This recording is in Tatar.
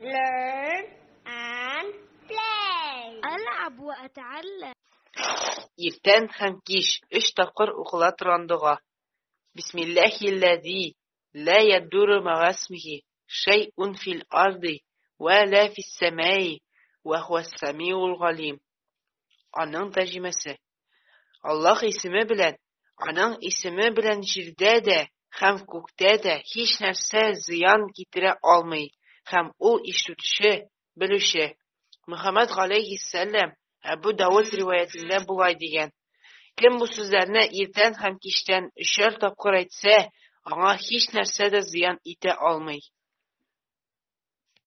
Learn and play. ألعب وأتعلم. Иртән һәм кич өч тапкыр укыла торган дога. Бисмиллаһилләзи ла ядурру мәгасмихи шәйъун фил арди вә лә фиссәмәи вә һуәс-сәмиул галим. Аның тәрҗемәсе: Аллаһ исеме белән, аның исеме белән җирдә дә һәм күктә дә һичнәрсә зыян китерә алмый, һәм Ул Ишетүче, Белүче. Мөхәммәд галәйһиссәлам Әбү Давыд риваятендә болай дигән: Кем бу сүзләрне иртән һәм кичтән өчәр тапкыр әйтсә, аңа һичнәрсә дә зыян итә алмый.